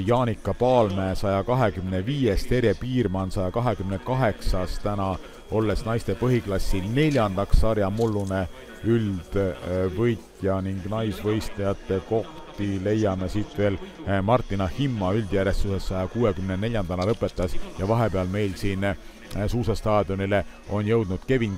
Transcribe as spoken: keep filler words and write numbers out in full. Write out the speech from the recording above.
Jaanika Paalmäe saja kahekümne viies, Terje Piirmann saja kahekümne kaheksas, täna olles naiste põhiklassi neljandaks sarja mullune üldvõitja ning naisvõistlejate kohti leiame siit veel Martina Himma üldjärjestuses saja kuuekümne neljandana lõpetas ja vahepeal meil siin suusastaadionile on jõudnud Kevin